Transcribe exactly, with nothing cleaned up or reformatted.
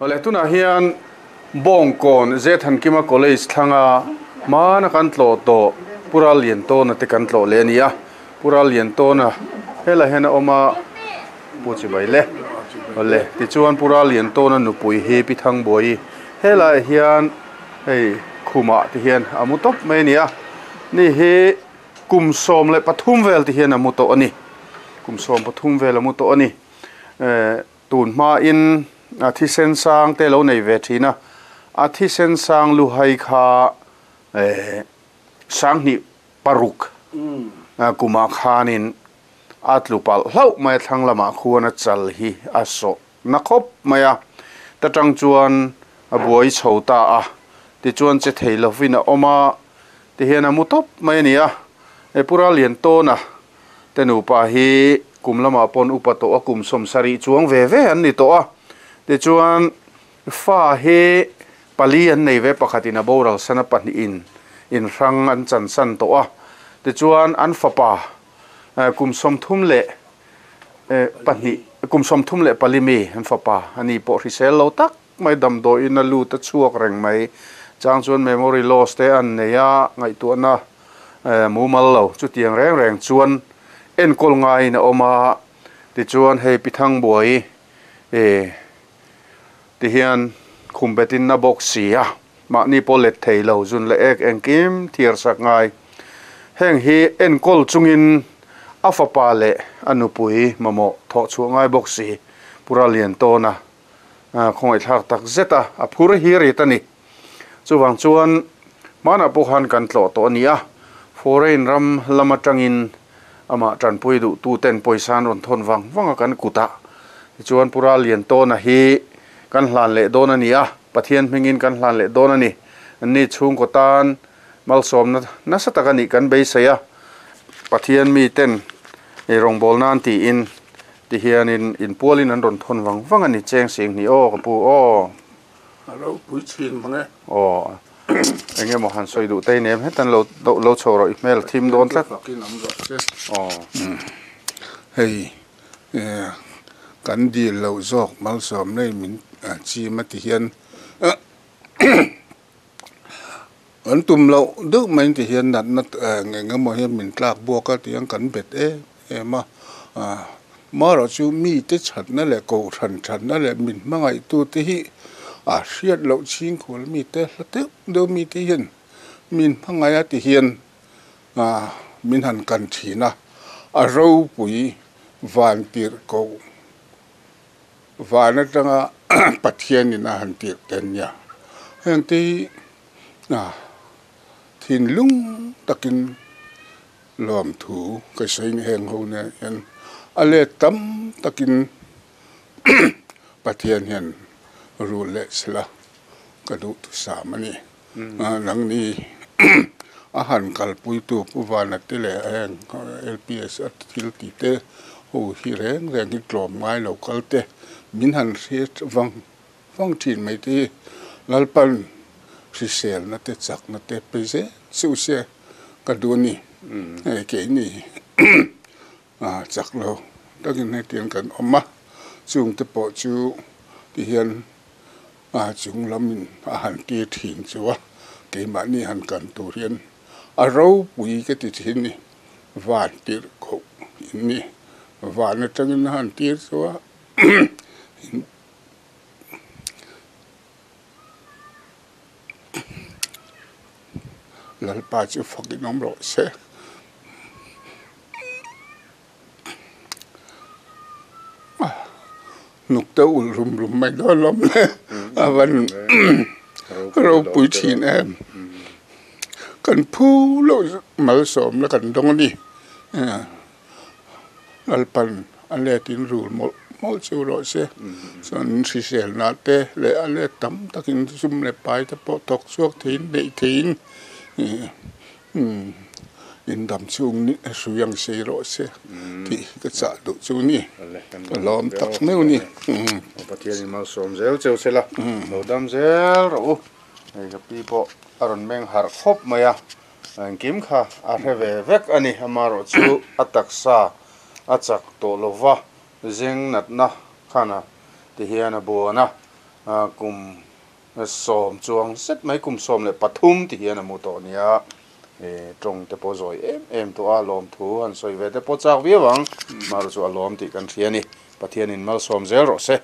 Ole tunah hian Bawngkawn Zethankima College thlanga hmana kan tlawh tawh Pura Liantawna te kan tlawh leh a ni a. Pura Liantawna helaiah hian a awm a, Pu Chibai le. Ole tichuan Pura Liantawna nupui hi Pi Thangbuai helaiah hian hei khumah te hian a mu tawp mai a ni a. Ni hi kum sawm leh pathum vel te hian a mu tawh a ni. Kum sawm pathum vel a mu tawh a ni. Tun hmain a thisen sang te lo nei ve thin a, a thisen sang lu hai kha sanghnih paruk kumah khanin a tlu palh hlauh mai a, thlang lamah khuan a chal hi a sawh na khawp mai a, ta tang chuan a buai chho ta a, tichuan che thei lovin a awm a, tihian a mu tawp mai a ni a. E Pura Liantawna te nupa hi kum lamah pawn upa tawh a, kum sawm sarih chuang ve ve an ni tawh a, tichuan fa hi pali an nei ve, pakhatin a boral sana pahnihin in hrang an chan san tawh a, tichuan an fapa kum sawm thum leh pahnih kum sawm thum leh pali mi an fapa ani pawh hrisel lo tak mai damdawiin a lut a chhuak reng mai chang chuan memory loss te an nei a, ngaihtuahna mumal lo chutiang reng reng chuan enkawl ngaiin a awm a, tichuan hei Pi Thangbuai e tihian khumbetin na bawk si a, mahni pawh let thei lo zun leh ek engkim thiar sak ngai heng hi enkawl chungin a fapa leh a nupui mamawh thawh chhuah ngai bawk si Pura Liantawna khawngaihthlak tak zet a, a phur hi rit a ni. Chuwang chuan hmanah pawh khan kan tlawh tawh a ni a, foreign ram lam atangin ama tanpui duh tu ten pawisa an rawn thawn vang vang a kan kutah tichuan Pura Liantawna hi kan hlan leh dawn a ni a, Pathian hmingin kan hlan leh dawn a ni. Anni chhungkaw tan malsawmna nasa tak a nih kan beisei a, Pathian mi ten rawngbâwl nan tiin tihianin inpualin an rawn thawn vang vang a ni. Cheng sing ni aw ka pu aw. A ro pui thin mang e. Aw eng emaw han sawi duh te nem hetan lo lo chho rawh i hmel thim dawn tlat. Aw hei kan dil lo zawk malsawm nei min chim a ti hian an tum lo deuh mai ti hian natna nge emaw hian min tlak buak a tiang kan bet em em a, marawh chu mi te thatna leh ko than thatna leh min hmangaih tu te hi a hriat loh chhing khual mi te hla deuh deuh mi te hian min hmangaih a ti hian min han kan thin a, a ropui van tir ko van atanga Pathianin a han tir ten nia heng te hi thin lung takin lawm thu ka sawi heng ho ne hian a let tam takin Pathian hian rul leh sela ka duh tu sam a ni. Nang ni a han kalpui tu pu vana te leh heng L P S a thil ti te ho hi reng reng hi tlawm ngai lo kal te min han hriat vang vang thin mai te hi Lalpan hrisel na te chak na te pe zel chu se ka duh ni hei ke ni a chak lo takin hetiang kan awm a, chung te pawh chu ti hian a chung lamin a han tir thin chu a, keimahni han kan tur hian a ropui ka ti thin ni van tir kho in ni van atangin a han tir chu a Lalpa chu fakin awm rawh se. Nuk te ul rum rum mai dawn lawm le a van ropui thin em. Kan phu lo malsawm la kan dawng a ni. Lalpan a letin rul mawlh mawlh chu rawh se. Chuan hrisel na te leh a let tam takin zum leh pai te pawh thawk chhuak theiin neih theiin in dam chung ni hrui ang sei rawh se tih ka chah duh chu ni. Ka lawm tak meuh ni. Pathianin malsawm zel cheu sela lo dam zel rawh u. Hei ka pi pawh a rawn meng harh khawp mai a, engkim kha a hre ve vek a ni. Amarawh chu a taksa a chak tawh lova zeng natna khana tihian a buan a, Kum sawm chuang zet mai kum sawm leh pathum ti hian a mu tawh nia tawng te pawh zawi em em tawh a lawm thu han sawi ve te pawh chak viau ang mar chu a lawm tih kan hria ni Pathianin malsawm zel rawh se.